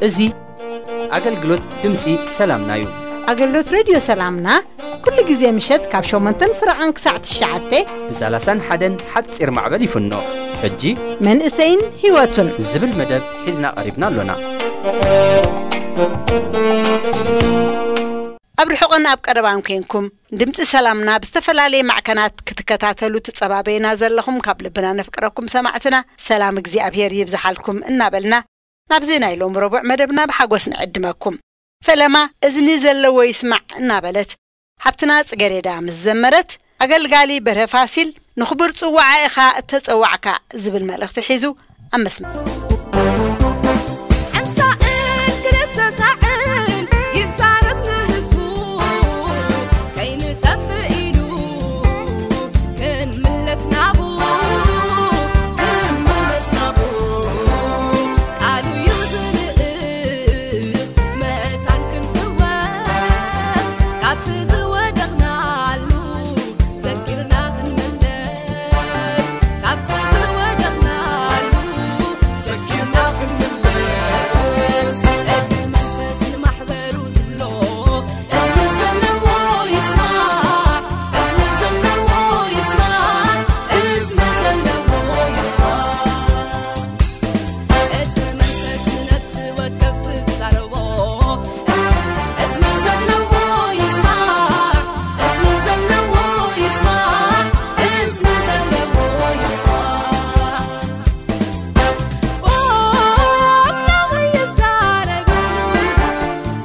እዚ ኣገልግሎት ድምፂ ሰላምና እዩ። ኣገልግሎት ሬድዮ ሰላምና ኩሉ ግዜ ምሸት ካብ ሸሞንተን ፍረቓን ክሳዕ ትሽዓተ ብ ሰላሳን ሓደን ሓፂር ማዕበል ይፍኖ። ሕጂ መንእሰይን ህይወቱን ዝብል መደብ ሒዝና ቀሪብና ኣሎና። ኣብ ርሑቕን ኣብ ቀረባን ኮንኩም ድምፂ ሰላምና ብዝተፈላለየ ማዕከናት ክትከታተሉ ትጸባበዩና ዘለኹም ካብ ልብና ነፍቅረኩም ሰማዕትና ሰላም እግዚኣብሔር ይብዝሓልኩም እናበልና ናብዚ ናይ ሎም ረቡዕ መደብና ብሓጎስ ንዕድመኩም። ፈለማ እዝኒ ዘለዎ ይስማዕ እናበለት ሓብትና ጽገሬዳ ምስ ዘመረት ኣገልጋሊ በርሀ ፋሲል ንኽቡር ጽዋዓ ኢኻ እተጸዋዕካ ዝብል መልእኽቲ ሒዙ ኣብ መስመር ሓንሳእን ክልተ ሳዕን ይዛረብ ንህዝቡ ከይንጠፍእ ኢሉ ክንምለስ ናቡ ክንምለስ ናቡ ቃሉ እዩ ዝልእ መታን ክንፍወስ ካብቲ ዝወደቕናሉ ዘኪርና ክንምለስ ካብቲ ዝወደቕናሉ ዘኪርና ክንምለስ እቲ መንፈስ ንማሕበሩ ዝብሎ እዝኒ ዘለዎ ይስማዕ እዝኒ ዘለዎ ይስማዕ እዝኒ ዘለዎ ይስማዕ እቲ መንፈስ ንነፍሲ ወከፍ ዝዛረቦ እዝኒ ዘለዎ ይስማዕ እዝኒ ዘለዎ ይስማዕ እዝኒ ዘለዎ ይስማዕ ኦ ኣምላኽ ይዛረብ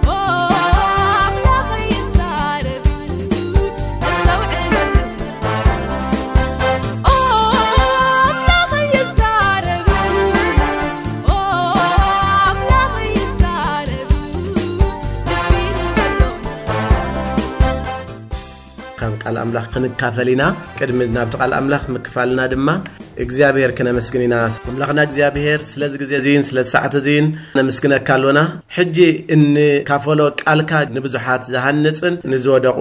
ኦ ኣምላኽ ይዛረብ ኣስተውዕል ኦ ኣምላኽ ይዛረብ ኦ ኣምላኽ ይዛረብ ልቢ ንበሎ ከም ቃል ኣምላኽ ክንካፈል ኢና። ቅድሚ ናብቲ ቃል ኣምላኽ ምክፋልና ድማ እግዚኣብሔር ክነመስግን ኢና። ኣምላኽና እግዚኣብሔር ስለዚ ግዜ እዚን ስለ ሰዓት እዚን ነመስግነካ ኣሎና። ሕጂ እንካፈሎ ቃልካ ንብዙሓት ዝሃንጽን ንዝወደቑ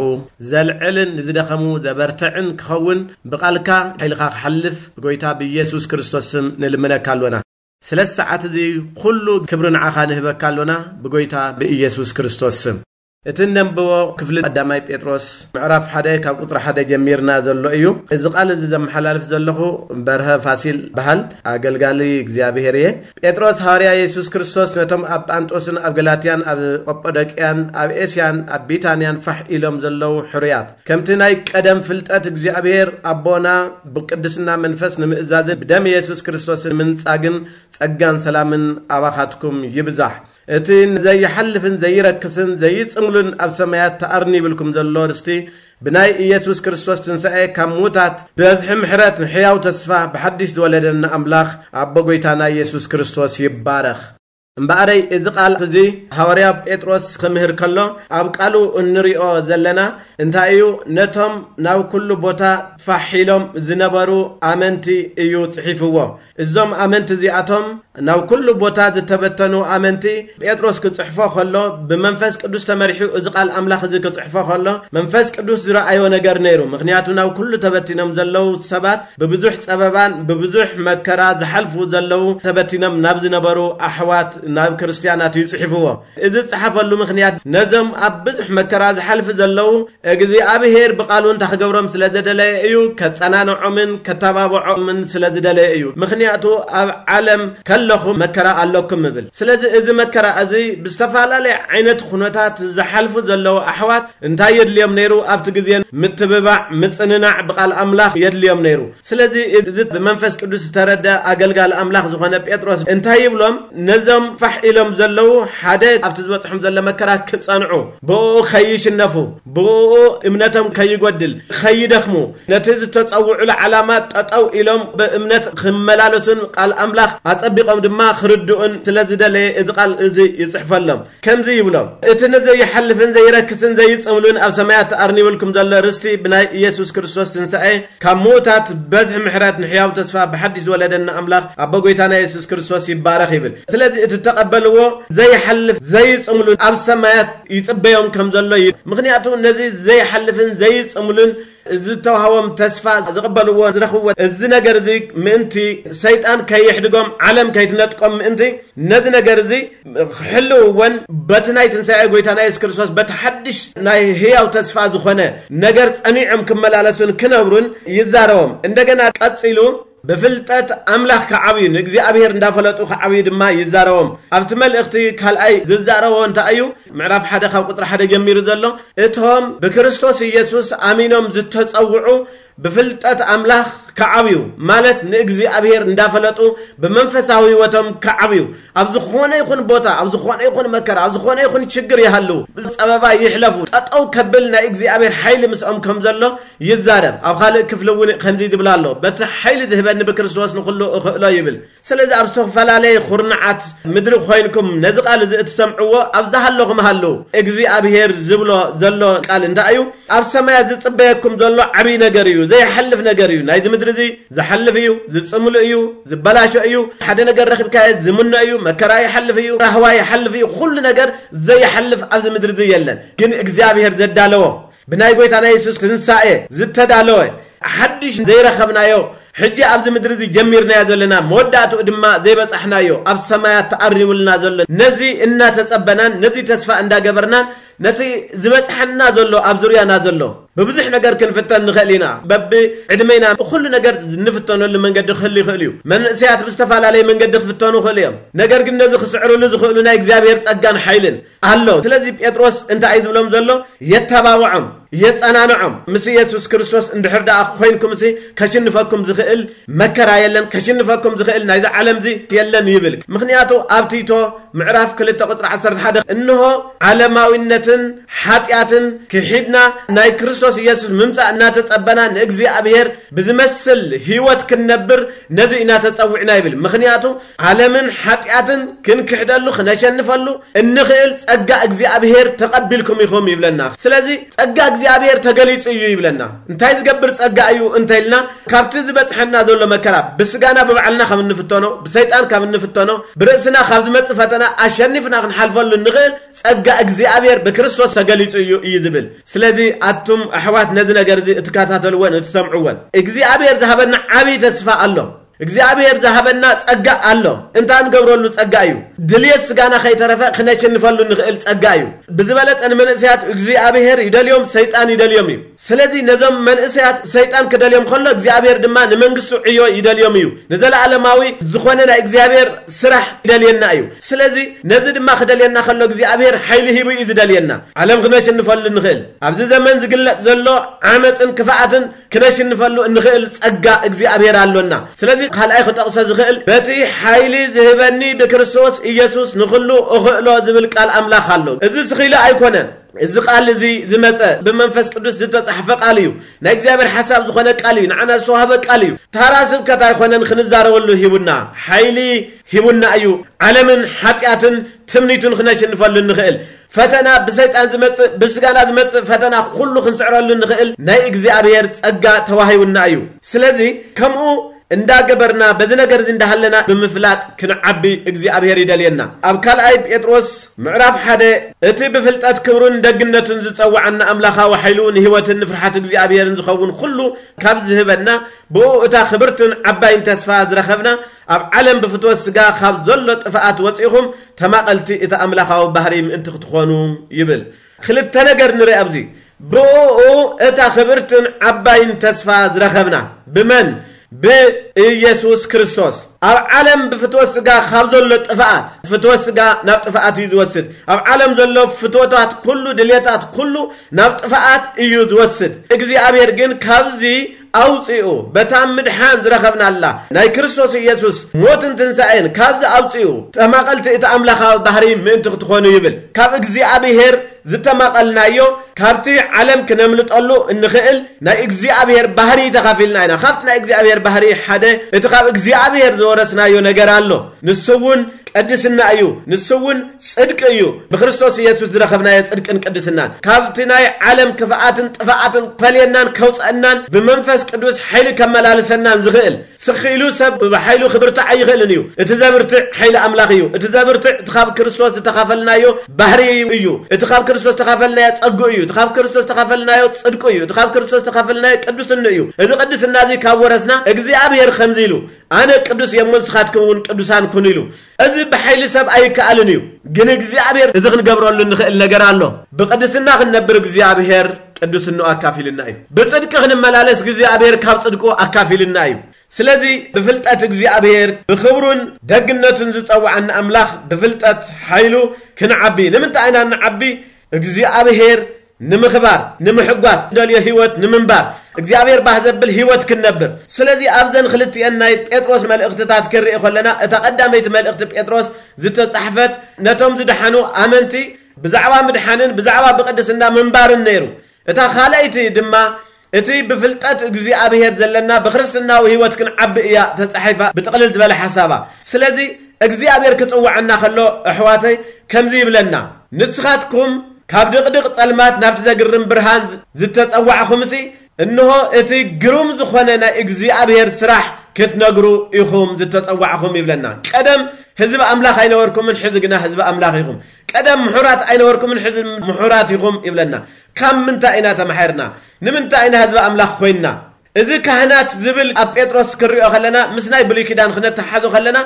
ዘልዕልን ንዝደኸሙ ዘበርትዕን ክኸውን ብቓልካ ሓይልኻ ክሓልፍ ብጎይታ ብኢየሱስ ክርስቶስ ስም ንልምነካ ኣሎና። ስለ ሰዓት እዚ ኩሉ ክብሪ ንዓኻ ንህበካ ኣሎና ብጎይታ ብኢየሱስ ክርስቶስ ስም። እቲ እነንብቦ ክፍሊ ቀዳማይ ጴጥሮስ ምዕራፍ ሓደ ካብ ቁጽሪ ሓደ ጀሚርና ዘሎ እዩ። እዚ ቃል እዚ ዘመሓላልፍ ዘለኹ በርሀ ፋሲል በሃል ኣገልጋሊ እግዚኣብሔር እየ። ጴጥሮስ ሃዋርያ የሱስ ክርስቶስ ነቶም ኣብ ጳንጦስን ኣብ ገላትያን ኣብ ቀጶዶቅያን ኣብ ኤስያን ኣብ ቢታንያን ፋሕ ኢሎም ዘለዉ ሕሩያት ከምቲ ናይ ቀደም ፍልጠት እግዚኣብሔር ኣቦና ብቅድስና መንፈስ ንምእዛዝን ብደም የሱስ ክርስቶስ ንምንጻግን ጸጋን ሰላምን ኣባኻትኩም ይብዛሕ። እቲ ዘይሓልፍን ዘይረክስን ዘይጽምሉን ኣብ ሰማያት ተኣርኒ ይብልኩም ዘሎ ርስቲ ብናይ ኢየሱስ ክርስቶስ ትንሳኤ ካብ ምዉታት ብብዝሒ ምሕረት ንሕያው ተስፋ ብሓድሽ ዝወለደና ኣምላኽ ኣቦ ጐይታና ኢየሱስ ክርስቶስ ይባረኽ። እምበኣረይ እዚ ቃል እዚ ሃዋርያ ጴጥሮስ ክምህር ከሎ ኣብ ቃሉ እንሪኦ ዘለና እንታይ እዩ? ነቶም ናብ ኩሉ ቦታ ፋሕ ኢሎም ዝነበሩ ኣመንቲ እዩ ጽሒፍዎ። እዞም ኣመንቲ እዚኣቶም ናብ ኩሉ ቦታ ዝተበተኑ ኣመንቲ ጴጥሮስ ክጽሕፎ ከሎ ብመንፈስ ቅዱስ ተመሪሑ እዚ ቃል ኣምላኽ እዚ ክጽሕፎ ከሎ መንፈስ ቅዱስ ዝረኣዮ ነገር ነይሩ። ምኽንያቱ ናብ ኩሉ ተበቲኖም ዘለዉ ሰባት ብብዙሕ ጸበባን ብብዙሕ መከራ ዝሓልፉ ዘለዉ ተበቲኖም ናብ ዝነበሩ ኣሕዋት ናብ ክርስትያናት እዩ ጽሒፍዎ። እዚ ዝጸሓፈሉ ምኽንያት ነዞም ኣብ ብዙሕ መከራ ዝሓልፉ ዘለዉ እግዚኣብሔር ብቓሉ እንታይ ክገብሮም ስለ ዝደለየ እዩ፣ ከጸናንዖምን ከተባብዖምን ስለ ዝደለየ እዩ። ምኽንያቱ ኣብ ዓለም ከለኹም መከራ ኣለኩም እብል። ስለዚ እዚ መከራ እዚ ብዝተፈላለየ ዓይነት ኩነታት ዝሓልፉ ዘለዉ ኣሕዋት እንታይ የድልዮም ነይሩ? ኣብቲ ግዜ ምትብባዕ፣ ምጽንናዕ ብቓል ኣምላኽ የድልዮም ነይሩ። ስለዚ እዚ ብመንፈስ ቅዱስ ዝተረደ ኣገልጋሊ ኣምላኽ ዝኾነ ጴጥሮስ እንታይ ይብሎም? ነዞም ፋሕ ኢሎም ዘለዉ ሓደ ኣብቲ ዝበጽሖም ዘሎ መከራ ክጸንዑ፣ ብኡ ከይሽነፉ፣ ብኡ እምነቶም ከይጎድል፣ ከይደኽሙ፣ ነቲ ዝተጸውዑሉ ዓላማ ጠጠው ኢሎም ብእምነት ክመላለሱን ቃል ኣምላኽ ኣጸቢቖም ድማ ክርድኡን ስለ ዝደለየ እዚ ቃል እዚ ይጽሕፈሎም። ከምዚ ይብሎም፣ እቲ ንዘይሓልፍን ዘይረክስን ዘይጽምሉን ኣብ ሰማያት ተኣርኒብልኩም ዘሎ ርስቲ ብናይ ኢየሱስ ክርስቶስ ትንሳኤ ካብ ምዉታት በዝሒ ምሕረት ንሕያው ተስፋ ብሓድሽ ዝወለደና ኣምላኽ ኣቦ ጐይታና የሱስ ክርስቶስ ይባረኽ ይብል። ስለዚ እቲ እተቐበልዎ ዘይሓልፍ ዘይጽምሉን ኣብ ሰማያት ይጽበዮም ከም ዘሎ እዩ። ምኽንያቱ ነዚ ዘይሓልፍን ዘይጽምሉን ዝተዋህቦም ተስፋ ዝቕበልዎ ዝረኽብዎ እዚ ነገር እዚ ምእንቲ ሰይጣን ከይሕድጎም ዓለም ከይትነጥቆም ምእንቲ ነዚ ነገር እዚ ክሕልውዎን በቲ ናይ ትንሳኤ ጐይታና የሱስ ክርስቶስ በቲ ሓድሽ ናይ ህያው ተስፋ ዝኾነ ነገር ጸኒዖም ክመላለሱን ክነብሩን ይዛረቦም። እንደገና ቀጺሉ ብፍልጠት ኣምላኽ ክዓብዩ ንእግዚኣብሔር እንዳፈለጡ ክዓብዩ ድማ ይዛረቦም። ኣብቲ መልእኽቲ ካልኣይ ዝዛረቦ እንታይ እዩ? ምዕራፍ ሓደ ካብ ቁጽሪ ሓደ ጀሚሩ ዘሎ እቶም ብክርስቶስ ኢየሱስ ኣሚኖም ዝተጸውዑ ብፍልጠት ኣምላኽ ክዓብዩ ማለት ንእግዚኣብሔር እንዳፈለጡ ብመንፈሳዊ ህይወቶም ክዓብዩ ኣብ ዝኾነ ይኹን ቦታ ኣብ ዝኾነ ይኹን መከራ ኣብ ዝኾነ ይኹን ችግር ይሃልዉ ጸበባ ይሕለፉ ጠጠው ከብል ናይ እግዚኣብሔር ሓይሊ ምስኦም ከም ዘሎ ይዛረብ። ኣብ ካልእ ክፍሊ እውን ከምዚ ዝብል ኣሎ፣ በቲ ሓይሊ ዝህበኒ ብክርስቶስ ንኹሉ እኽእሎ ይብል። ስለዚ ኣብ ዝተፈላለየ ኩርናዓት ምድሪ ኮይንኩም ነዚ ቃል እዚ እትሰምዕዎ ኣብ ዝሃለኹም ሃልዉ። እግዚኣብሔር ዝብሎ ዘሎ ቃል እንታይ እዩ? ኣብ ሰማያት ዝጽበየኩም ዘሎ ዓብዪ ነገር እዩ፣ ዘይሓልፍ ነገር እዩ። ናይዚ ምድሪ እዚ ዝሓልፍ እዩ፣ ዝጽምሉ እዩ፣ ዝበላሾ እዩ። ሓደ ነገር ረኺብካዮ ዝምኖ እዩ፣ መከራ ይሓልፍ እዩ፣ ራህዋ ይሓልፍ እዩ። ኩሉ ነገር ዘይሓልፍ ኣብዚ ምድሪ እዚ የለን። ግን እግዚኣብሔር ዘዳለዎ ብናይ ጐይታና የሱስ ትንሳኤ ዝተዳለወ ሓድሽ ዘይረኸብናዮ ሕጂ ኣብዚ ምድሪ እዚ ጀሚርናዮ ዘለና መወዳእትኡ ድማ ዘይበጻሕናዮ ኣብ ሰማያት ተኣሪሙልና ዘሎ ነዚ እናተጸበናን ነዚ ተስፋ እንዳገበርናን ነቲ ዝበጽሐና ዘሎ ኣብ ዙርያና ዘሎ ብብዙሕ ነገር ክንፍተን ንኽእል ኢና። በብዕድመና ኩሉ ነገር እንፍተነሉ መንገዲ ክህሉ ይኽእል እዩ። መንእሰያት ብዝተፈላለየ መንገዲ ክፍተኑ ይኽእሉ እዮም። ነገር ግን ነዚ ክስዕርሉ ዝኽእሉ ናይ እግዚኣብሔር ጸጋን ሓይልን ኣሎ። ስለዚ ጴጥሮስ እንታይ እዩ ዝብሎም ዘሎ? የተባብዖም፣ የጸናንዖም። ምስ ኢየሱስ ክርስቶስ እንድሕር ደኣ ኮይንኩምሲ ከሽንፈኩም ዝኽእል መከራ የለን፣ ከሽንፈኩም ዝኽእል ናይዚ ዓለም እዚ የለን ይብል። ምኽንያቱ ኣብ ቲቶ ምዕራፍ ክልተ ቁጽሪ ዓሰርተ ሓደ እንሆ ዓለማዊነትን ሓጢኣትን ክሒድና ናይ ክርስቶስ ኢየሱስ ምምጻእ እናተጸበና ንእግዚኣብሔር ብዝመስል ህይወት ክንነብር ነዚ ኢና ተጸዊዕና ይብል። ምኽንያቱ ዓለምን ሓጢኣትን ክንክሕደሉ ክነሸንፈሉ እንኽእል ጸጋ እግዚኣብሔር ተቐቢልኩም ኢኹም ይብለና። ስለዚ ጸጋ እግዚኣብሔር ተገሊጹ እዩ ይብለና። እንታይ ዝገብር ጸጋ እዩ እንተኢልና ካብቲ ዝበጽሐና ዘሎ መከራ ብስጋና ብባዕልና ካብ እንፍተኖ፣ ብሰይጣን ካብ እንፍተኖ፣ ብርእስና ካብ ዝመጽእ ፈተና ኣሸኒፍና ክንሓልፈሉ እንኽእል ጸጋ እግዚኣብሔር ብክርስቶስ ተገሊጹ እዩ እዩ ዝብል። ስለዚ ኣቱም ኣሕዋት ነዚ ነገር እዚ እትከታተልዎን እትሰምዕዎን እግዚኣብሔር ዝሃበና ዓብዪ ተስፋ ኣሎ። እግዚኣብሔር ዝሃበና ጸጋ ኣሎ። እንታ ንገብረሉ ጸጋ እዩ። ድልየት ስጋና ከይተረፈ ክነሸንፈሉ ንኽእል ጸጋ እዩ። ብዝበለጸ ንመንእሰያት እግዚኣብሔር ይደልዮም፣ ሰይጣን ይደልዮም እዩ። ስለዚ ነዞም መንእሰያት ሰይጣን ክደልዮም ከሎ እግዚኣብሔር ድማ ንመንግስቱ ዕዮ ይደልዮም እዩ። ንዘለዓለማዊ ዝኾነ ናይ እግዚኣብሔር ስራሕ ይደልየና እዩ። ስለዚ ነዚ ድማ ክደልየና ከሎ እግዚኣብሔር ሓይሊ ሂቡ እዩ ዝደልየና። ዓለም ክነሸንፈሉ ንኽእል። ኣብዚ ዘመን ዝግለጥ ዘሎ ዓመፅን ክፍኣትን ክነሽንፈሉ እንኽእል ጸጋ እግዚኣብሔር ኣሎና። ስለዚ ካልኣይ ክጠቕሶ ዝኽእል በቲ ሓይሊ ዝህበኒ ብክርስቶስ ኢየሱስ ንኹሉ እኽእሎ ዝብል ቃል ኣምላኽ ኣሎ። እዚ ስኺሉ ኣይኮነን። እዚ ቃል እዚ ዝመጸ ብመንፈስ ቅዱስ ዝተጻሕፈ ቃል እዩ። ናይ እግዚኣብሔር ሓሳብ ዝኾነ ቃል እዩ። ንዓና ዝተዋህበ ቃል እዩ። ታራ ስብከት ኣይኮነን ክንዛረበሉ ሂቡና። ሓይሊ ሂቡና እዩ። ዓለምን ሓጢኣትን ትምኒቱን ክነሽንፈሉ እንኽእል ፈተና ብሰይጣን ዝመጽእ ብስጋና ዝመጽእ ፈተና ኩሉ ክንስዕረሉ እንኽእል ናይ እግዚኣብሔር ጸጋ ተዋሂቡና እዩ። ስለዚ ከምኡ እንዳገበርና በዚ ነገር እዚ እንዳሃለና ብምፍላጥ ክንዓቢ እግዚኣብሔር ይደልየና። ኣብ ካልኣይ ጴጥሮስ ምዕራፍ ሓደ እቲ ብፍልጠት ክብሩን ደግነቱን ዝጸውዓና ኣምላኻዊ ሓይሉ ንህይወትን ንፍርሓት እግዚኣብሔርን ዝኸውን ኩሉ ካብ ዝህበና ብኡ እታ ክብርትን ዓባይን ተስፋ ዝረኸብና ኣብ ዓለም ብፍትወት ስጋ ካብ ዘሎ ጥፍኣት ወፂእኹም ተማቐልቲ እቲ ኣምላኻዊ ባህሪ ምእንቲ ክትኾኑ ይብል። ክልተ ነገር ንርኢ ኣብዚ። ብኡ እታ ክብርትን ዓባይን ተስፋ ዝረኸብና ብመን? ብኢየሱስ ክርስቶስ። ኣብ ዓለም ብፍትወት ስጋ ካብ ዘሎ ጥፍኣት፣ ፍትወት ስጋ ናብ ጥፍኣት እዩ ዝወስድ። ኣብ ዓለም ዘሎ ፍትወታት ኩሉ፣ ድልየታት ኩሉ ናብ ጥፍኣት እዩ ዝወስድ። እግዚኣብሔር ግን ካብዚ ኣውፅኡ፣ በታ ምድሓን ዝረኸብናላ ናይ ክርስቶስ ኢየሱስ ሞትን ትንሳኤን ካብዚ ኣውፅኡ፣ ተማቐልቲ እቲ ኣምላኻዊ ባህሪ ምእንቲ ክትኾኑ ይብል። ካብ እግዚኣብሔር ዝተማቐልናዮ፣ ካብቲ ዓለም ክነምልጠሉ እንኽእል ናይ እግዚኣብሔር ባህሪ ተኻፊልና ኢና። ካብቲ ናይ እግዚኣብሔር ባህሪ ሓደ፣ እቲ ካብ እግዚኣብሔር ዝወረስናዮ ነገር ኣሎ። ንሱ እውን ቅድስና እዩ። ንሱ እውን ጽድቂ እዩ። ብክርስቶስ ኢየሱስ ዝረኸብናዮ ጽድቅን ቅድስናን፣ ካብቲ ናይ ዓለም ክፍኣትን ጥፍኣትን ፈልየናን ከውፀአናን፣ ብመንፈስ ቅዱስ ሓይሊ ከመላልሰናን ዝኽእል። ስኺ ኢሉ ሰብ ብሓይሉ ክብርትዕ ኣይኽእልን እዩ። እቲ ዘብርትዕ ሓይሊ ኣምላኽ እዩ። እቲ ዘብርትዕ እቲ ካብ ክርስቶስ ዝተኻፈልናዮ ባህሪ እዩ። እቲ ካብ ክርስቶስ ዝተኻፈልናዮ ጸግኡ እዩ። እቲ ካብ ክርስቶስ ዝተኻፈልናዮ ጽድቁ እዩ። እቲ ካብ ክርስቶስ ዝተኻፈልናዮ ቅዱስን እዩ። እዚ ቅድስና እዚ ካብ ወረስና፣ እግዚኣብሔር ከምዚ ኢሉ፣ "ኣነ ቅዱስ እየ እሞ ንስኻትኩም እውን ቅዱሳን ኩኑ" ኢሉ። እዚ ብሓይሊ ሰብ ኣይከኣልን እዩ። ግን እግዚኣብሔር እዚ ክንገብረሉ እንኽእል ነገር ኣሎ። ብቅድስና ክንነብር እግዚኣብሔር ቅዱስንኡ ኣካፊልና እዩ። ብጽድቂ ክንመላለስ እግዚኣብሔር ካብ ጽድቁ ኣካፊልና እዩ። ስለዚ ብፍልጠት እግዚኣብሔር፣ ብኽብሩን ደግነቱን ዝጸውዓና ኣምላኽ፣ ብፍልጠት ሓይሉ ክንዓቢ። ንምንታይ ኢና እንዓቢ? እግዚኣብሔር ንምኽባር፣ ንምሕጓስ፣ ደልዮ ህይወት ንምንባር፣ እግዚኣብሔር ባህ ዘብል ህይወት ክንነብር። ስለዚ ኣብዘን ክልቲኤን ናይ ጴጥሮስ መልእኽትታት ክንርኢ ከለና፣ እታ ቀዳመይቲ መልእኽቲ ጴጥሮስ ዝተጻሕፈት ነቶም ዝደሓኑ ኣመንቲ ብዛዕባ ምድሓንን ብዛዕባ ብቅድስና ምንባርን ነይሩ። እታ ካልኣይቲ ድማ እቲ ብፍልጠት እግዚኣብሔር ዘለና ብክርስትናዊ ህይወት ክንዓቢ እያ ተጻሒፋ፣ ብጥቕልል ዝበለ ሓሳባ። ስለዚ እግዚኣብሔር ክጽውዓና ከሎ፣ ኣሕዋተይ፣ ከምዚ ይብለና፣ "ንስኻትኩም ካብ ድቕድቕ ጸልማት ናብቲ ዘግርም ብርሃን ዝተጸዋዕኹምሲ፣ እንሆ እቲ ግሩም ዝኾነ ናይ እግዚኣብሔር ስራሕ ክትነግሩ ኢኹም ዝተጸዋዕኹም" ይብለና። ቀደም ህዝቢ ኣምላኽ ኣይነበርኩምን፣ ሕዚ ግና ህዝቢ ኣምላኽ ኢኹም። ቀደም ምሑራት ኣይነበርኩምን፣ ሕዚ ምሑራት ኢኹም ይብለና። ካብ ምንታይ ኢና ተማሒርና? ንምንታይ ኢና ህዝቢ ኣምላኽ ኮይንና? እዚ ካህናት ዝብል ኣብ ጴጥሮስ ክንሪኦ ከለና፣ ምስ ናይ ብሉይ ኪዳን ክነተሓዞ ከለና፣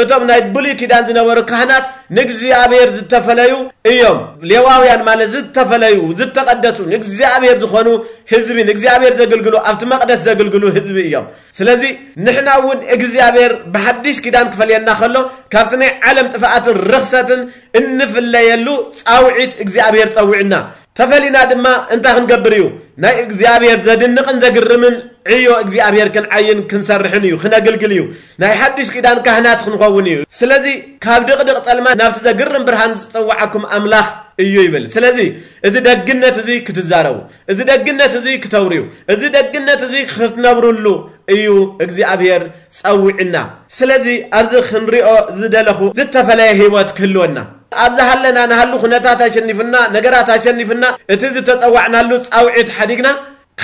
እቶም ናይ ብሉይ ኪዳን ዝነበሩ ካህናት ንእግዚኣብሔር ዝተፈለዩ እዮም። ሌዋውያን ማለት ዝተፈለዩ፣ ዝተቐደሱ፣ ንእግዚኣብሔር ዝኾኑ ህዝቢ፣ ንእግዚኣብሔር ዘገልግሉ፣ ኣብቲ መቕደስ ዘገልግሉ ህዝቢ እዮም። ስለዚ ንሕና እውን እግዚኣብሔር ብሓድሽ ኪዳን ክፈልየና ከሎ፣ ካብቲ ናይ ዓለም ጥፍኣትን ርኽሰትን እንፍለየሉ ጻውዒት እግዚኣብሔር ጸዊዕና። ተፈሊና ድማ እንታይ ክንገብር እዩ? ናይ እግዚኣብሔር ዘድንቕን ዘግርምን ዕዮ እግዚኣብሔር ክንዓይን ክንሰርሕን እዩ፣ ክነግልግል እዩ። ናይ ሓድሽ ኪዳን ካህናት ክንኸውን እዩ። ስለዚ ካብ ድቕድቕ ጸልማት ናብቲ ዘግርም ብርሃን ዝጸውዓኩም ኣምላኽ እዩ ይብል። ስለዚ እዚ ደግነት እዚ ክትዛረቡ፣ እዚ ደግነት እዚ ክተውርዩ፣ እዚ ደግነት እዚ ክትነብሩሉ እዩ እግዚኣብሔር ጸዊዕና። ስለዚ ኣብዚ ክንሪኦ ዝደለኹ ዝተፈለየ ህይወት ክህልወና፣ ኣብ ዝሃለና ንሃሉ ኩነታት ኣሸኒፍና፣ ነገራት ኣሸኒፍና፣ እቲ ዝተጸዋዕናሉ ጻውዒት ሓዲግና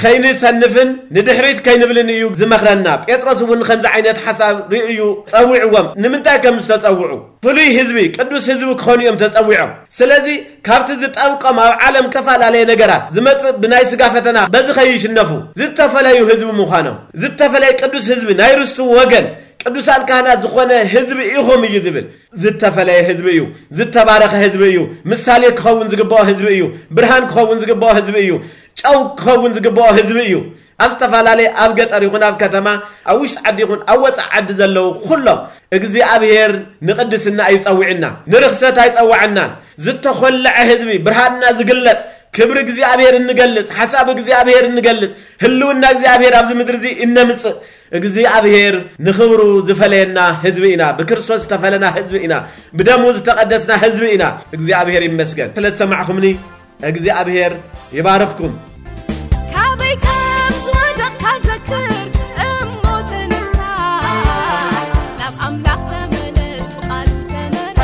ከይንሰንፍን ንድሕሪት ከይንብልን እዩ ዝመኽረና። ጴጥሮስ እውን ከምዚ ዓይነት ሓሳብ ርእዩ ጸዊዕዎም። ንምንታይ ከም ዝተጸውዑ፣ ፍሉይ ህዝቢ፣ ቅዱስ ህዝቢ ክኾኑ እዮም ተጸዊዖም። ስለዚ ካብቲ ዝጠብቆም ኣብ ዓለም ዝተፈላለየ ነገራት ዝመጽእ ብናይ ስጋ ፈተና በዚ ከይሽነፉ ዝተፈለዩ ህዝቢ ምዃኖም፣ ዝተፈለየ ቅዱስ ህዝቢ፣ ናይ ርስቱ ወገን፣ ቅዱሳን ካህናት ዝኾነ ህዝቢ ኢኹም እዩ ዝብል። ዝተፈለየ ህዝቢ እዩ። ዝተባረኸ ህዝቢ እዩ። ምሳሌ ክኸውን ዝግብኦ ህዝቢ እዩ። ብርሃን ክኸውን ዝግብኦ ህዝቢ እዩ። ጨው ክኸውን ዝግብኦ ህዝቢ እዩ። ኣብ ዝተፈላለየ፣ ኣብ ገጠር ይኹን ኣብ ከተማ፣ ኣብ ውሽጢ ዓዲ ይኹን ኣብ ወፃኢ ዓዲ ዘለዉ ኩሎም፣ እግዚኣብሔር ንቅድስና ኣይጸውዕና፣ ንርኽሰት ኣይጸውዐናን። ዝተኾለዐ ህዝቢ፣ ብርሃንና ዝግለጽ፣ ክብሪ እግዚኣብሔር እንገልጽ፣ ሓሳብ እግዚኣብሔር እንገልጽ፣ ህልውና እግዚኣብሔር ኣብዚ ምድሪ እዚ እነምጽእ፣ እግዚኣብሔር ንኽብሩ ዝፈለየና ህዝቢ ኢና። ብክርስቶስ ዝተፈለና ህዝቢ ኢና። ብደሙ ዝተቐደስና ህዝቢ ኢና። እግዚኣብሔር ይመስገን ስለ ዝሰማዕኹምኒ። እግዚኣብሔር ይባርኽኩም። ካበይ ከም ዝወደቕካ ዘክር እሞ ተነሳ፣ ናብ ኣምላኽ ተመለስ፣ ብቓሉ ተመራ።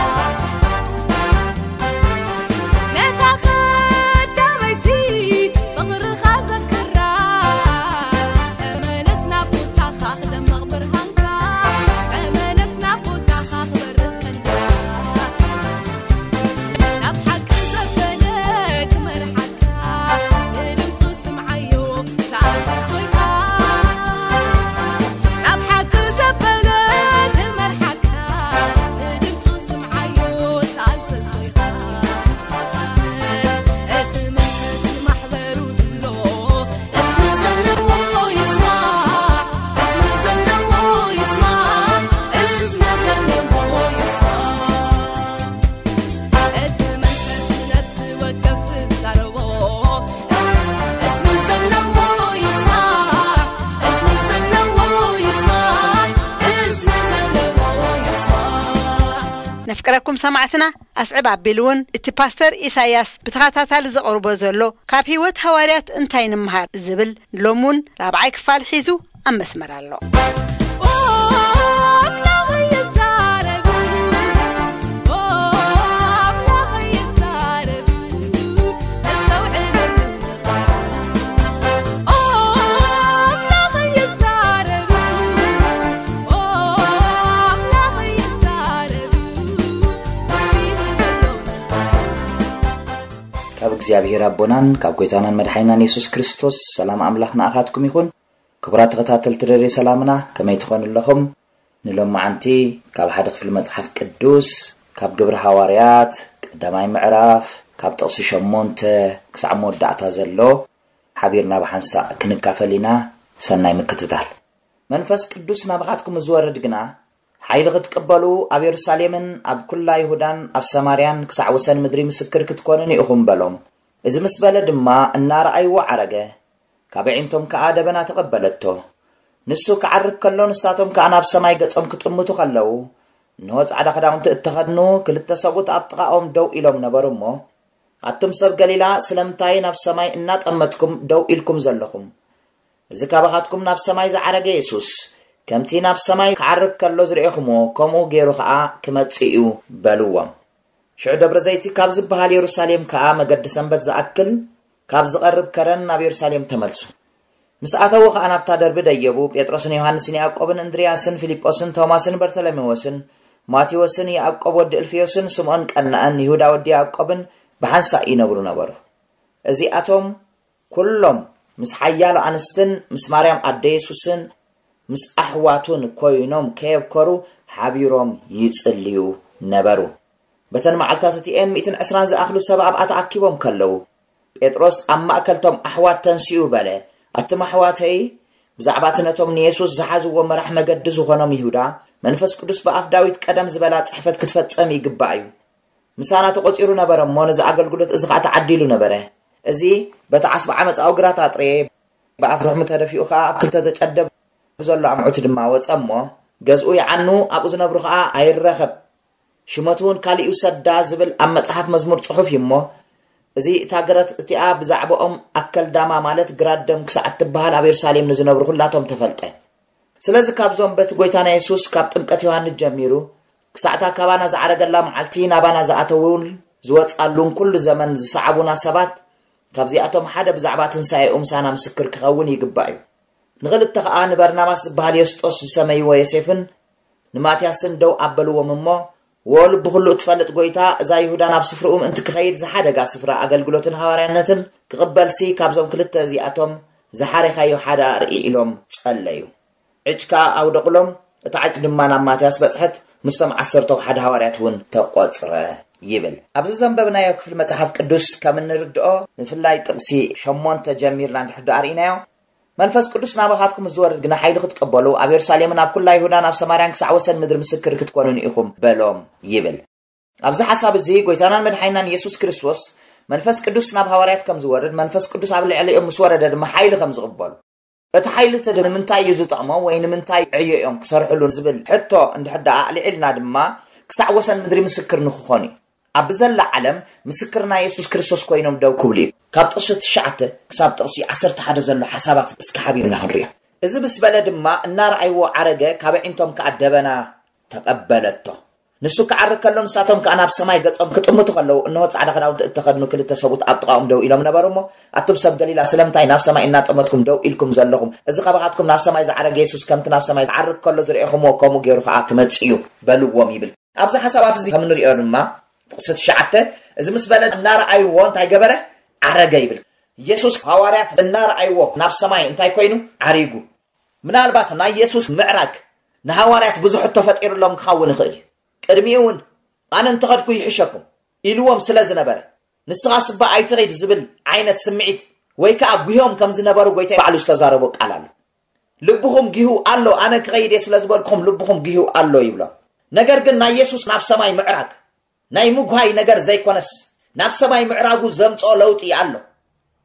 ነታ ቀዳመይቲ ፍቕርኻ ዘክራ፣ ተመለስ ናብ ቦታኻ ክደምቕ ብርሃንካ፣ ተመለስ ናብ ቦታኻ ክበርህ ቀንድኻ። ናብ ሓቂ ዘበለ ክመርሓካ፣ ንድምፁ ስምዓዮ፣ ተኣዘዞ ኢኻ። ናብ ሓቂ ዘበለ ክመርሓካ፣ ንድምፁ ነፍቅረኩም ሰማዕትና ኣስዕብ ኣቢሉ እውን እቲ ፓስተር ኢሳያስ ብተኸታታሊ ዘቕርቦ ዘሎ ካብ ህይወት ሃዋርያት እንታይ ንምሃር ዝብል ሎም እውን ራብዓይ ክፋል ሒዙ ኣብ መስመር ኣሎ። ካብ እግዚኣብሔር ኣቦናን ካብ ጎይታናን መድሓይናን የሱስ ክርስቶስ ሰላም ኣምላኽ ንኣኻትኩም ይኹን። ክቡራት ተኸታተልቲ ደሬ ሰላምና፣ ከመይ ትኾኑ ኣለኹም? ንሎማዓንቲ ካብ ሓደ ክፍሊ መጽሓፍ ቅዱስ፣ ካብ ግብሪ ሃዋርያት ቀዳማይ ምዕራፍ፣ ካብ ጥቕሲ ሸሞንተ ክሳዕ መወዳእታ ዘሎ ሓቢርና ብሓንሳእ ክንካፈል ኢና። ሰናይ ምክትታል። መንፈስ ቅዱስ ናባኻትኩም ዝወርድ ግና፣ ሓይሊ ክትቅበሉ ኣብ የሩሳሌምን ኣብ ኩላ ይሁዳን ኣብ ሰማርያን ክሳዕ ወሰን ምድሪ ምስክር ክትኮኑኒ ኢኹም በሎም። እዚ ምስ በለ ድማ እናረኣይዎ ዓረገ። ካብ ኣዒንቶም ከኣ ደበና ተቐበለቶ። ንሱ ክዓርግ ከሎ ንሳቶም ከኣ ናብ ሰማይ ገጾም ክጥምቱ ከለዉ፣ እንሆ ጻዕዳ ክዳውንቲ እተኸድኑ ክልተ ሰብኡት ኣብ ጥቓኦም ደው ኢሎም ነበሩ እሞ፣ ኣቱም ሰብ ገሊላ፣ ስለምንታይ ናብ ሰማይ እናጠመትኩም ደው ኢልኩም ዘለኹም? እዚ ካባኻትኩም ናብ ሰማይ ዝዓረገ የሱስ፣ ከምቲ ናብ ሰማይ ክዓርግ ከሎ ዝርኤኹምዎ፣ ከምኡ ገይሩ ኸኣ ክመጽእ እዩ በልዎም። ሽዑ ደብረ ዘይቲ ካብ ዝበሃል የሩሳሌም ከኣ መገዲ ሰንበት ዝኣክል ካብ ዝቐርብ ከረን ናብ የሩሳሌም ተመልሱ። ምስ ኣተዉ ኸኣ ናብታ ደርቢ ደየቡ። ጴጥሮስን ዮሃንስን ያዕቆብን እንድርያስን ፊልጶስን ቶማስን በርተሎሜዎስን ማቴዎስን ያዕቆብ ወዲ እልፍዮስን ስምዖን ቀናእን ይሁዳ ወዲ ያዕቆብን ብሓንሳእ ይነብሩ ነበሩ። እዚኣቶም ኩሎም ምስ ሓያሎ ኣንስትን ምስ ማርያም ኣደ የሱስን ምስ ኣሕዋቱን ኮይኖም ከየብከሩ ሓቢሮም ይጽልዩ ነበሩ። በተን መዓልታት እቲኤን ሚእትን ዕስራን ዝኣኽሉ ሰብ ኣብኣ ተኣኪቦም ከለዉ፣ ጴጥሮስ ኣብ ማእከልቶም ኣሕዋት ተንሲኡ በለ፣ ኣቱም ኣሕዋተይ፣ ብዛዕባ እቲ ነቶም ንየሱስ ዝሓዝዎ መራሕ መገዲ ዝኾኖም ይሁዳ፣ መንፈስ ቅዱስ ብኣፍ ዳዊት ቀደም ዝበላ ጽሕፈት ክትፈጸም ይግባእ እዩ። ምሳና ተቖጺሩ ነበረ እሞ፣ ነዚ ኣገልግሎት እዚ ኸኣ ተዓዲሉ ነበረ። እዚ በቲ ዓስቢ ዓመፃኡ ግራት ኣጥረየ፣ ብኣፍ ርሕሙ ተደፊኡ ኸኣ ኣብ ክልተ ተጨደ፣ ብዘሎ ኣምዑት ድማ ወጸ እሞ፣ ገዝኡ ይዓኑ፣ ኣብኡ ዝነብሩ ኸኣ ኣይረኸብ። ሽመቱ እውን ካሊእ ይውሰዳ ዝብል ኣብ መጽሓፍ መዝሙር ጽሑፍ እዩ እሞ፣ እዚ እታ ገረት እቲኣ ብዛዕባኦም ኣከልዳማ ማለት ግራት ደም ክሳዕ እትበሃል ኣብ የሩሳሌም ንዝነብሩ ኩላቶም ተፈልጠ። ስለዚ ካብዞም በቲ ጎይታና የሱስ ካብ ጥምቀት ዮሃንስ ጀሚሩ ክሳዕታ ካባና ዝዓረገላ መዓልቲ ናባና ዝኣተዉን ዝወጻሉን ኩሉ ዘመን ዝሰዓቡና ሰባት ካብዚኣቶም ሓደ ብዛዕባ ትንሳኤኡ ምሳና ምስክር ክኸውን ይግባእ እዩ። ንኽልተ ኸኣ ንበርናባስ ዝበሃል የስጦስ ዝሰመይዎ ዮሴፍን ንማትያስን ደው ኣበልዎም እሞ፣ "ወ ልቢ ኩሉ እትፈልጥ ጎይታ፣ እዛ ይሁዳ ናብ ስፍርኡ ምእንቲ ክኸይድ ዝሓደጋ ስፍራ ኣገልግሎትን ሃዋርያነትን ክቕበልሲ ካብዞም ክልተ እዚኣቶም ዝሓሬኻዮ ሓደ ኣርኢ" ኢሎም ጸለዩ። ዕጭ ከኣ ኣውደቑሎም፣ እታ ዕጭ ድማ ናብ ማትያስ በጽሐት፣ ምስቶም ዓሰርተው ሓደ ሃዋርያት እውን ተቖጽረ ይብል። ኣብዚ ዘንበብናዮ ክፍሊ መጽሓፍ ቅዱስ ከም እንርድኦ፣ ብፍላይ ጥቕሲ ሸሞንተ ጀሚርና እንድሕር ደኣ ርኢናዮ፣ "መንፈስ ቅዱስ ናባኻትኩም ዝወርድ ግና ሓይሊ ክትቀበሉ፣ ኣብ የሩሳሌምን ኣብ ኩላ ይሁዳን ኣብ ሰማርያን ክሳዕ ወሰን ምድሪ ምስክር ክትኮኑኒ ኢኹም" በሎም ይብል። ኣብዚ ሓሳብ እዚ ጎይታናን መድሓይናን የሱስ ክርስቶስ መንፈስ ቅዱስ ናብ ሃዋርያት ከም ዝወርድ፣ መንፈስ ቅዱስ ኣብ ልዕሊኦም ምስ ወረደ ድማ ሓይሊ ከም ዝቕበሉ፣ እቲ ሓይሊ እቲ ንምንታይ እዩ ዝጠቕሞም ወይ ንምንታይ ዕዮ እዮም ክሰርሕሉ ዝብል ሕቶ እንድሕር ደኣ ኣልዒልና ድማ፣ ክሳዕ ወሰን ምድሪ ምስክር ንክኾኑ እዩ። ኣብ ዘላ ዓለም ምስክር ናይ የሱስ ክርስቶስ ኮይኖም ደው ክብሉ እዩ። ካብ ጥቕሲ ትሽዓተ ክሳብ ጥቕሲ ዓሰርተ ሓደ ዘሎ ሓሳባት እስኪ ሓቢርና ክንሪኦ። እዚ ምስ በለ ድማ እናረኣይዎ ዓረገ፣ ካብ ኣዒንቶም ከኣ ደበና ተቐበለቶ። ንሱ ክዓርግ ከሎ ንሳቶም ከኣ ናብ ሰማይ ገጾም ክጥምቱ ከለዉ፣ እንሆ ጻዕዳ ክዳውንቲ እተኸድኑ ክልተ ሰብኡት ኣብ ጥቓኦም ደው ኢሎም ነበሩ እሞ፣ ኣቱም ሰብ ገሊላ፣ ስለምንታይ ናብ ሰማይ እናጠመትኩም ደው ኢልኩም ዘለኹም? እዚ ካባኻትኩም ናብ ሰማይ ዝዓረገ የሱስ ከምቲ ናብ ሰማይ ዝዓርግ ከሎ ዝረኤኹምዎ ከምኡ ገይሩ ከኣ ክመጽእ እዩ በልዎም ይብል። ኣብዚ ሓሳባት እዚ ከም እንሪኦ ድማ ጥቕሲ ትሽዓተ፣ እዚ ምስ በለ እናረኣይዎ እንታይ ገበረ? ዓረገ ይብል። የሱስ ሃዋርያት እናረኣይዎ ናብ ሰማይ እንታይ ኮይኑ? ዓሪጉ። ምናልባት ናይ የሱስ ምዕራግ ንሃዋርያት ብዙሕ ሕቶ ፈጢሩሎም ክኸውን ይኽእል እዩ። ቅድሚኡ እውን ኣነ እንተኸድኩ ይሕሸኩም ኢልዎም ስለ ዝነበረ፣ ንስኻስ እባ ኣይትኺድ ዝብል ዓይነት ስምዒት ወይ ከኣ ጉህዮም ከም ዝነበሩ ጎይታ ባዕሉ ዝተዛረቦ ቃል ኣሎ። ልብኹም ጊሁ ኣሎ፣ ኣነ ክኸይድ እየ ስለ ዝበልኩም ልብኹም ጊሁ ኣሎ ይብሎም። ነገር ግን ናይ የሱስ ናብ ሰማይ ምዕራግ ናይ ምጉሃይ ነገር ዘይኮነስ፣ ናብ ሰማይ ምዕራጉ ዘምጽኦ ለውጢ ኣሎ።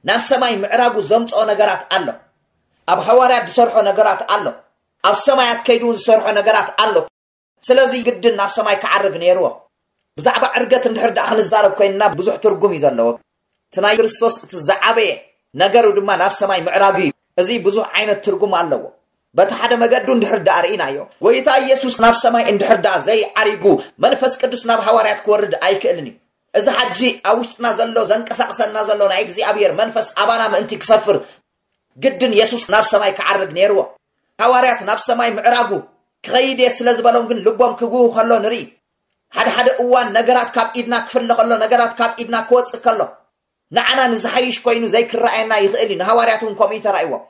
ናብ ሰማይ ምዕራጉ ዘምጽኦ ነገራት ኣሎ። ኣብ ሃዋርያት ዝሰርሖ ነገራት ኣሎ። ኣብ ሰማያት ከይዱ እውን ዝሰርሖ ነገራት ኣሎ። ስለዚ ግድን ናብ ሰማይ ክዓርግ ነይርዎ። ብዛዕባ ዕርገት እንድሕር ደኣ ክንዛረብ ኮይንና ብዙሕ ትርጉም እዩ ዘለዎ። እቲ ናይ ክርስቶስ እቲ ዝዓበየ ነገሩ ድማ ናብ ሰማይ ምዕራጉ እዩ። እዚ ብዙሕ ዓይነት ትርጉም ኣለዎ። በቲ ሓደ መገዱ እንድሕር ደኣ ርኢናዮ፣ ጎይታ ኢየሱስ ናብ ሰማይ እንድሕር ደኣ ዘይዓሪጉ፣ መንፈስ ቅዱስ ናብ ሃዋርያት ክወርድ ኣይክእልን እዩ። እዚ ሓጂ ኣብ ውሽጥና ዘሎ፣ ዘንቀሳቕሰና ዘሎ ናይ እግዚኣብሔር መንፈስ ኣባና ምእንቲ ክሰፍር ግድን የሱስ ናብ ሰማይ ክዓርግ ነይርዎ። ሃዋርያት ናብ ሰማይ ምዕራጉ ክኸይድ እየ ስለ ዝበሎም ግን ልቦም ክግሁ ከሎ ንርኢ። ሓደ ሓደ እዋን ነገራት ካብ ኢድና ክፍለ ከሎ፣ ነገራት ካብ ኢድና ክወጽእ ከሎ፣ ንዓና ንዝሓይሽ ኮይኑ ዘይክረኣየና ይኽእል እዩ። ንሃዋርያት እውን ከምኡ እዩ ተራእይዎም።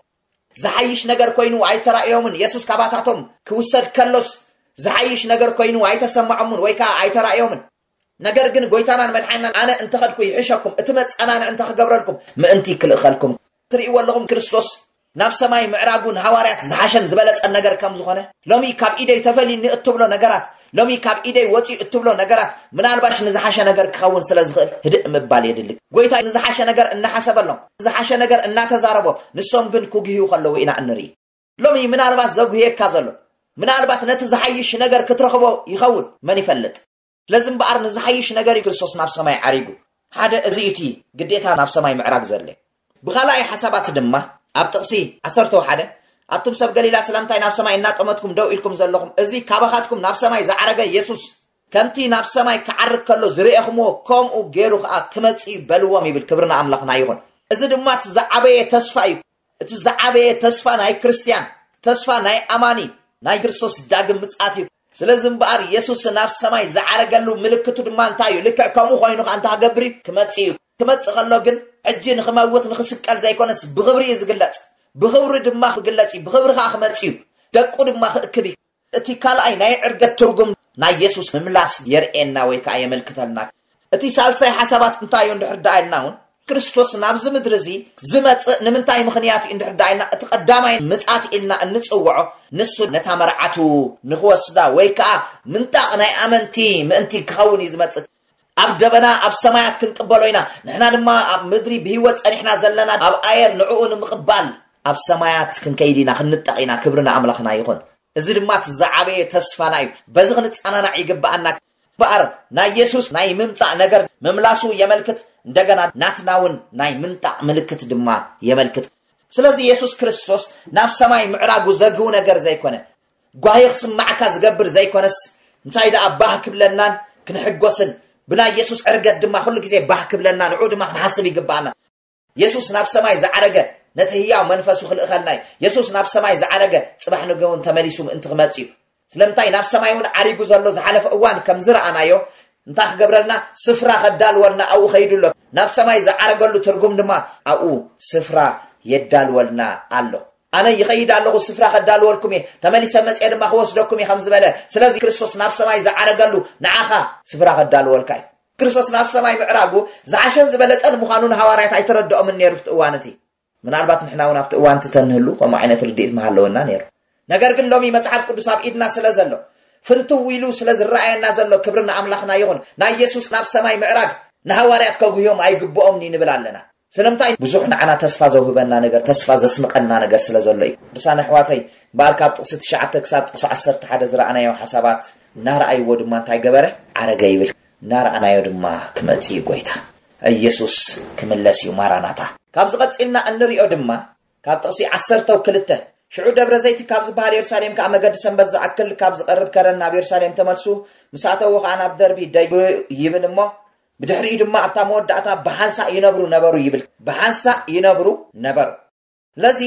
ዝሓይሽ ነገር ኮይኑ ኣይተራእዮምን። የሱስ ካባታቶም ክውሰድ ከሎስ ዝሓይሽ ነገር ኮይኑ ኣይተሰማዖምን ወይ ከዓ ኣይተራእዮምን። ነገር ግን ጎይታናን መድሓናን ኣነ እንተኸድኩ ይሕሸኩም፣ እቲ መጸናንዒ እንተኽገብረልኩም ምእንቲ ክልእኸልኩም። ትርእይዎ ኣለኹም ክርስቶስ ናብ ሰማይ ምዕራጉ ንሃዋርያት ዝሓሸን ዝበለጸን ነገር ከም ዝኾነ። ሎሚ ካብ ኢደይ ተፈልዩኒ እትብሎ ነገራት፣ ሎሚ ካብ ኢደይ ወፂኡ እትብሎ ነገራት ምናልባሽ ንዝሓሸ ነገር ክኸውን ስለ ዝኽእል ህድእ ምባል የድሊ። ጎይታ ንዝሓሸ ነገር እናሓሰበሎም፣ ዝሓሸ ነገር እናተዛረቦ፣ ንሶም ግን ክጉህዩ ከለዉ ኢና እንርኢ። ሎሚ ምናልባት ዘጉህየካ ዘሎ፣ ምናልባት ነቲ ዝሓይሽ ነገር ክትረኽቦ ይኸውን፣ መን ይፈልጥ? ስለዚ እምበኣር ንዝሓይሽ ነገር እዩ ክርስቶስ ናብ ሰማይ ዓሪጉ። ሓደ እዚ እዩ እቲ ግዴታ ናብ ሰማይ ምዕራግ ዘድልዮ። ብኻልኣይ ሓሳባት ድማ ኣብ ጥቕሲ ዓሰርተ ሓደ፣ ኣቱም ሰብ ገሊላ ስለምንታይ ናብ ሰማይ እናጠመትኩም ደው ኢልኩም ዘለኹም? እዚ ካባኻትኩም ናብ ሰማይ ዝዓረገ የሱስ ከምቲ ናብ ሰማይ ክዓርግ ከሎ ዝረኤኹምዎ ከምኡ ገይሩ ኸኣ ክመጽእ እዩ በልዎም ይብል። ክብሪ ንኣምላኽና ይኹን። እዚ ድማ እቲ ዝዓበየ ተስፋ እዩ። እቲ ዝዓበየ ተስፋ ናይ ክርስትያን፣ ተስፋ ናይ ኣማኒ ናይ ክርስቶስ ዳግም ምጽኣት እዩ። ስለዚ እምበኣር የሱስ ናብ ሰማይ ዝዓረገሉ ምልክቱ ድማ እንታይ እዩ? ልክዕ ከምኡ ኮይኑ ኸኣ እንታይ ክገብር እዩ? ክመጽእ እዩ። ክመጽእ ከሎ ግን ሕጂ ንኽመውት ንኽስቀል ዘይኮነስ ብኽብሪ እዩ ዝግለጽ። ብኽብሪ ድማ ክግለጽ እዩ። ብኽብሪ ኸኣ ክመጽእ እዩ። ደቁ ድማ ክእክብ እዩ። እቲ ካልኣይ ናይ ዕርገት ትርጉም ናይ የሱስ ምምላስ የርእየና ወይ ከኣ የመልክተልና። እቲ ሳልሳይ ሓሳባት እንታይ እዩ እንድሕር ደኣ ኢልና እውን፣ ክርስቶስ ናብዚ ምድሪ እዚ ዝመጽእ ንምንታይ ምኽንያት እዩ እንድሕር ደኣ ኢልና፣ እቲ ቀዳማይ ምጽኣት ኢልና እንጽውዖ ንሱ ነታ መርዓቱ ንኽወስዳ ወይ ከኣ ምንጣቕ ናይ ኣመንቲ ምእንቲ ክኸውን እዩ ዝመጽእ። ኣብ ደበና ኣብ ሰማያት ክንቅበሎ ኢና። ንሕና ድማ ኣብ ምድሪ ብህይወት ጸኒሕና ዘለና ኣብ ኣየር ንዕኡ ንምቕባል ኣብ ሰማያት ክንከይድ ኢና፣ ክንንጠቕ ኢና። ክብሪ ንኣምላኽና ይኹን። እዚ ድማ እቲ ዝዓበየ ተስፋና እዩ። በዚ ክንጸናናዕ ይግብኣና። እምበኣር ናይ የሱስ ናይ ምምጻእ ነገር ምምላሱ የመልክት፣ እንደገና ናትና እውን ናይ ምንጣቕ ምልክት ድማ የመልክት። ስለዚ የሱስ ክርስቶስ ናብ ሰማይ ምዕራጉ ዘግህው ነገር ዘይኮነ፣ ጓሂ ክስማዕካ ዝገብር ዘይኮነስ፣ እንታይ ደኣ ባህ ክብለናን ክንሕጎስን፣ ብናይ የሱስ ዕርገት ድማ ኩሉ ግዜ ባህ ክብለና፣ ንዕኡ ድማ ክንሓስብ ይግብኣና። የሱስ ናብ ሰማይ ዝዓረገ ነቲ ህያው መንፈሱ ክልእኸልና እዩ። የሱስ ናብ ሰማይ ዝዓረገ ጽባሕ ንግሆ እውን ተመሊሱ ምእንቲ ክመጽእ እዩ። ስለምንታይ ናብ ሰማይ እውን ዓሪጉ ዘሎ ዝሓለፈ እዋን ከም ዝረኣናዮ፣ እንታይ ክገብረልና? ስፍራ ከዳልወልና ኣብኡ ከይዱ ኣሎ። ናብ ሰማይ ዝዓረገሉ ትርጉም ድማ ኣብኡ ስፍራ የዳልወልና ኣሎ። ኣነ ይኸይድ ኣለኹ፣ ስፍራ ከዳልወልኩም እየ፣ ተመሊሰ መጽየ ድማ ክወስደኩም እየ ከም ዝበለ። ስለዚ ክርስቶስ ናብ ሰማይ ዝዓረገሉ ንዓኻ ስፍራ ከዳልወልካ እዩ። ክርስቶስ ናብ ሰማይ ምዕራጉ ዝሓሸን ዝበለጸን ምዃኑ ንሃዋርያት ኣይተረድኦምን ነይሩ ኣብቲ እዋን እቲ። ምናልባት ንሕና እውን ኣብቲ እዋን እቲ ተንህሉ ከምኡ ዓይነት ርድኢት ምሃለወና ነይሩ። ነገር ግን ሎሚ መጽሓፍ ቅዱስ ኣብ ኢድና ስለ ዘሎ፣ ፍንትው ኢሉ ስለ ዝረኣየና ዘሎ፣ ክብሪ ንኣምላኽና ይኹን። ናይ የሱስ ናብ ሰማይ ምዕራግ ንሃዋርያት ከጉህዮም ኣይግብኦምን እዩ ንብል ኣለና። ስለምንታይ? ብዙሕ ንዓና ተስፋ ዘውህበና ነገር፣ ተስፋ ዘስንቐና ነገር ስለ ዘሎ እዩ። ቅዱሳን ኣሕዋተይ፣ እምበኣር ካብ ጥቕሲ ትሽዓተ ክሳብ ጥቕሲ ዓሰርተ ሓደ ዝረኣናዮ ሓሳባት እናረኣይዎ ድማ እንታይ ገበረ? ዓረገ ይብል። እናረኣናዮ ድማ ክመጽእ እዩ ጎይታ። ኢየሱስ ክምለስ እዩ። ማራናታ። ካብዚ ቀጺልና እንሪኦ ድማ ካብ ጥቕሲ ዓሰርተ ክልተ፣ ሽዑ ደብረ ዘይቲ ካብ ዝበሃል የሩሳሌም ከኣ መገዲ ሰንበት ዝኣክል ካብ ዝቐርብ ከረን ናብ የሩሳሌም ተመልሱ፣ ምስ ኣተዉ ከኣ ናብ ደርቢ ደዩ ይብል እሞ፣ ብድሕሪኡ ድማ ኣብታ መወዳእታ ብሓንሳእ ይነብሩ ነበሩ ይብል። ብሓንሳእ ይነብሩ ነበሩ። ስለዚ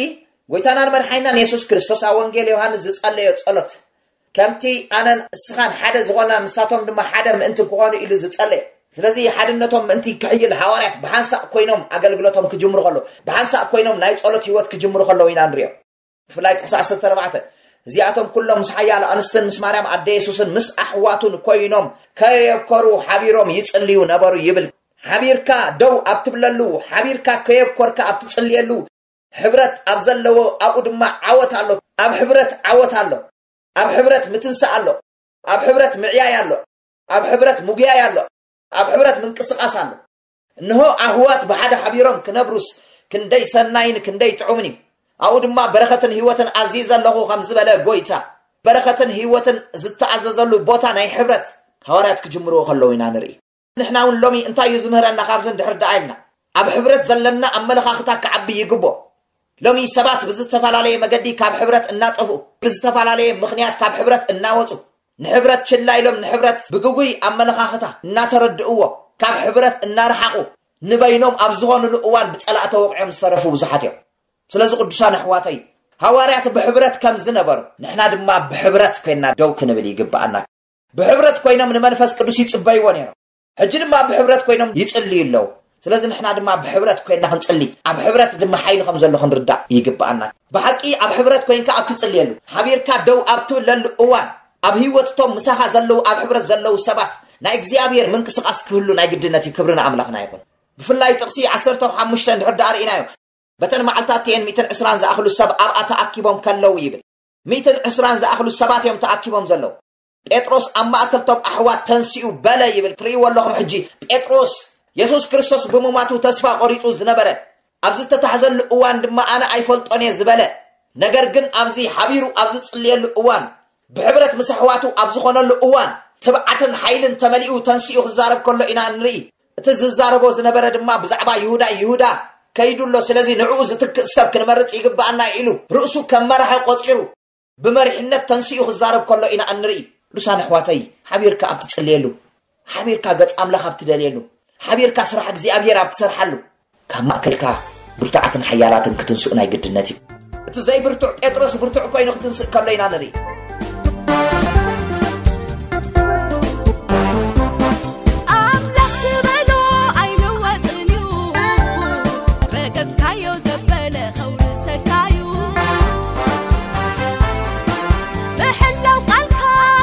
ጎይታናን መድሓኒናን የሱስ ክርስቶስ ኣብ ወንጌል ዮሃንስ ዝጸለዮ ጸሎት፣ ከምቲ ኣነን እስኻን ሓደ ዝኾና ንሳቶም ድማ ሓደ ምእንቲ ክኾኑ ኢሉ ዝጸለየ። ስለዚ ሓድነቶም ምእንቲ ክሕይል ሃዋርያት ብሓንሳእ ኮይኖም ኣገልግሎቶም ክጅምሩ ከለዉ፣ ብሓንሳእ ኮይኖም ናይ ጸሎት ህይወት ክጅምሩ ከለዉ ኢና ንሪኦ። ብፍላይ ጥቕሲ ዓሰርተ ኣርባዕተ፣ እዚኣቶም ኩሎም ምስ ሓያሎ ኣንስትን ምስ ማርያም ኣደ የሱስን ምስ ኣሕዋቱን ኮይኖም ከየብኮሩ ሓቢሮም ይጽልዩ ነበሩ ይብል። ሓቢርካ ደው ኣብ ትብለሉ፣ ሓቢርካ ከየብኮርካ ኣብ ትጽልየሉ፣ ሕብረት ኣብ ዘለዎ ኣብኡ ድማ ዓወት ኣሎ። ኣብ ሕብረት ዓወት ኣሎ። ኣብ ሕብረት ምትንሳእ ኣሎ። ኣብ ሕብረት ምዕያይ ኣሎ። ኣብ ሕብረት ምጉያይ ኣሎ። ኣብ ሕብረት ምንቅስቓስ ኣሎ። እንሆ ኣህዋት ብሓደ ሓቢሮም ክነብሩስ ክንደይ ሰናይን ክንደይ ጥዑምን እዩ። ኣብኡ ድማ በረኸትን ህይወትን ኣዝይዘ ኣለኹ ከም ዝበለ ጎይታ፣ በረኸትን ህይወትን ዝተኣዘዘሉ ቦታ ናይ ሕብረት፣ ሃዋርያት ክጅምርዎ ከለዉ ኢና ንርኢ። ንሕና እውን ሎሚ እንታይ እዩ ዝምህረና? ካብዚ እንድሕር ደኣ ኢልና፣ ኣብ ሕብረት ዘለና ኣመለኻኽታ ክዓቢ ይግቦ። ሎሚ ሰባት ብዝተፈላለየ መገዲ ካብ ሕብረት እናጠፍኡ፣ ብዝተፈላለየ ምኽንያት ካብ ሕብረት እናወፁ፣ ንሕብረት ችላ ኢሎም፣ ንሕብረት ብግጉይ ኣመለኻኽታ እናተረድእዎ፣ ካብ ሕብረት እናረሓቑ፣ ንበይኖም ኣብ ዝኾኑሉ እዋን ብጸላእ ተወቕዖም ዝተረፉ ብዙሓት እዮም። ስለዚ ቅዱሳን ኣሕዋተይ፣ ሃዋርያት ብሕብረት ከም ዝነበሩ፣ ንሕና ድማ ብሕብረት ኮይና ደው ክንብል ይግብኣና። ብሕብረት ኮይኖም ንመንፈስ ቅዱስ ይጽበይዎ ነይሮም። ሕጂ ድማ ብሕብረት ኮይኖም ይጽልዩ ኣለዉ። ስለዚ ንሕና ድማ ብሕብረት ኮይና ክንጽሊ፣ ኣብ ሕብረት ድማ ሓይሊ ከም ዘሎ ክንርዳእ ይግብኣና። ብሓቂ ኣብ ሕብረት ኮይንካ ኣብ ትጽልየሉ፣ ሓቢርካ ደው ኣብ ትብለሉ እዋን፣ ኣብ ህይወት እቶም ምሳኻ ዘለዉ፣ ኣብ ሕብረት ዘለዉ ሰባት ናይ እግዚኣብሔር ምንቅስቃስ ክህሉ ናይ ግድነት እዩ። ክብሪ ንኣምላኽና ይኹን። ብፍላይ ጥቕሲ ዓሰርተ ሓሙሽተ እንድሕር ደኣ ርኢናዮ፣ በተን መዓልታት እቲኤን ሚእትን ዕስራን ዝኣኽሉ ሰብ ኣብኣ ተኣኪቦም ከለዉ ይብል። ሚእትን ዕስራን ዝኣኽሉ ሰባት እዮም ተኣኪቦም ዘለዉ። ጴጥሮስ ኣብ ማእከል ቶም ኣሕዋት ተንሲኡ በለ ይብል። ትርእይዎ ኣለኹም። ሕጂ ጴጥሮስ የሱስ ክርስቶስ ብምሟቱ ተስፋ ቆሪጹ ዝነበረ፣ ኣብ ዝተታሕዘሉ እዋን ድማ ኣነ ኣይፈልጦን እየ ዝበለ፣ ነገር ግን ኣብዚ ሓቢሩ ኣብ ዝጽልየሉ እዋን፣ ብሕብረት ምስ ኣሕዋቱ ኣብ ዝኾነሉ እዋን፣ ትብዓትን ሓይልን ተመሊኡ ተንሲኡ ክዛረብ ከሎ ኢና ንርኢ። እቲ ዝዛረቦ ዝነበረ ድማ ብዛዕባ ይሁዳ፣ ይሁዳ ከይዱ ኣሎ፣ ስለዚ ንዕኡ ዝትክእ ሰብ ክንመርጽ ይግብኣና ኢሉ ርእሱ ከም መራሒ ቆጺሩ ብመሪሕነት ተንሲኡ ክዛረብ ከሎ ኢና እንርኢ። ቅዱሳን ኣሕዋተይ፣ ሓቢርካ ኣብ ትጽልየሉ፣ ሓቢርካ ገጽ ኣምላኽ ኣብ ትደልየሉ፣ ሓቢርካ ስራሕ እግዚኣብሔር ኣብ ትሰርሓሉ፣ ካብ ማእከልካ ብርቱዓትን ሓያላትን ክትንስኡ ናይ ግድነት እዩ። እቲ ዘይብርቱዕ ጴጥሮስ ብርቱዕ ኮይኑ ክትንስእ ከሎ ኢና ንርኢ። ኣምላኽ ዝበሎ ኣይልወጥን እዩ። ረገጽካዮ ዘበለ ከውርሰካ እዩ። ብሕላው ቃልካ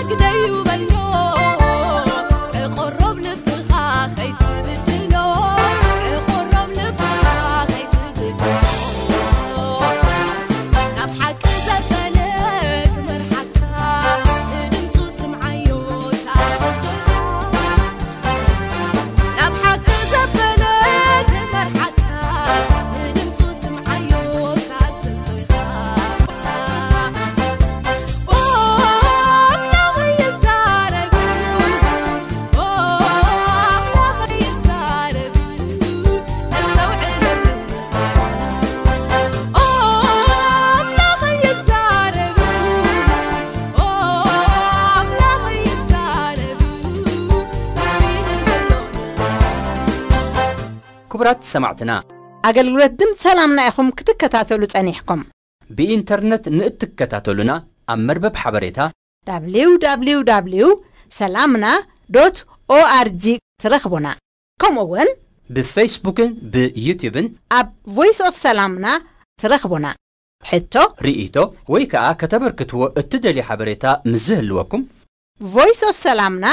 ግደዩ በሎ። ዕቆሮብ ልብኻ ከይትብድሎ። ዕቆሮብ ልብኻ ከይትብድሎ። ናብ ሓቂ ዘበለ ክመርሓካ፣ ንድምፁ ስምዓዮ፣ ተኣዘዞ። ናብ ሓቂ ዘበለ ክመርሓካ፣ ንድምፁ ስምዓዮ፣ ተኣዘዞ። ኦ፣ ኣምላኽ ይዛረብ፣ ኦ፣ ኣምላኽ ይዛረብ፣ ነስተውዕለሉ። ኦ ኣምላኽ ይዛረብ፣ ኦ ኣምላኽ ይዛረብ፣ ልቢ ንበሎ። ክቡራት ሰማዕትና፣ ኣገልግሎት ድምፂ ሰላምና ኢኹም ክትከታተሉ ጸኒሕኩም። ብኢንተርነት ንእትከታተሉና ኣብ መርበብ ሓበሬታ www ሰላምና ዶት ኦኣርጂ ትረኽቡና። ከምኡ እውን ብፌስቡክን ብዩቲዩብን ኣብ ቮይስ ኦፍ ሰላምና ትረኽቡና። ሕቶ፣ ርእይቶ ወይ ከኣ ከተበርክትዎ እትደልዩ ሓበሬታ ምስ ዝህልወኩም ቮይስ ኦፍ ሰላምና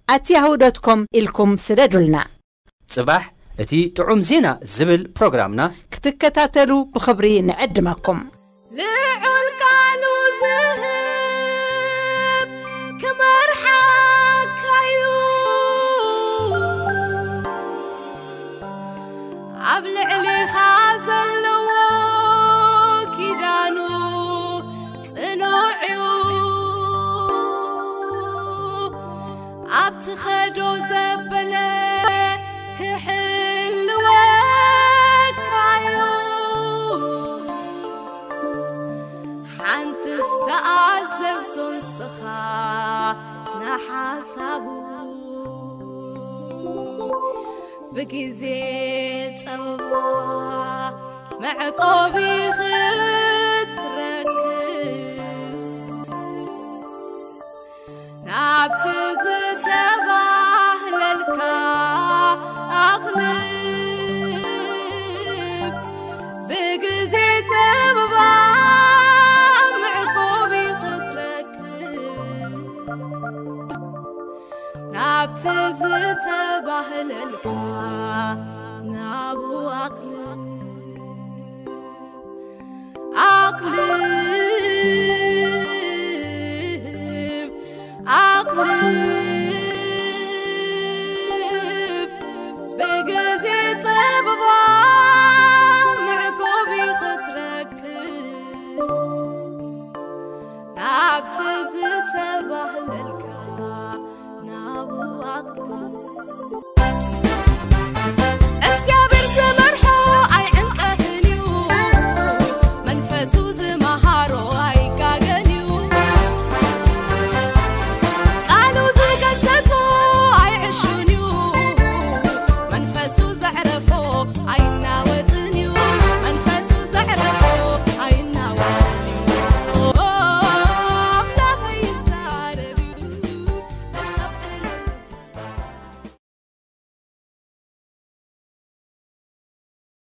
ኣት ያሁ ዶት ኮም ኢልኩም ስደዱልና። ጽባሕ እቲ ጥዑም ዜና ዝብል ፕሮግራምና ክትከታተሉ ብኽብሪ ንዕድመኩም። ልዑል ቃሉ ዝህብ ክመርሓካዩ፣ ኣብ ልዕሊኻ ዘለዎ ኪዳኑ ጽኑዕ እዩ። ኣብ ትኸዶ ዘበለ ክሕልወካዩ። ሓንቲ ዝተኣዘዞ ንስኻ ንሓሳቡ ብግዜ ጸበባ መዕቆቢ ክትረክብ ናብቲ ዝተባህለልካ ኣቕልብ ብግዜ ጸበባ መዕቆቢ ክትረክብ ናብቲ ዝተባህለልካ ናብኡ ኣቕልብ። ኣቕልብ፣ ኣቕልብ።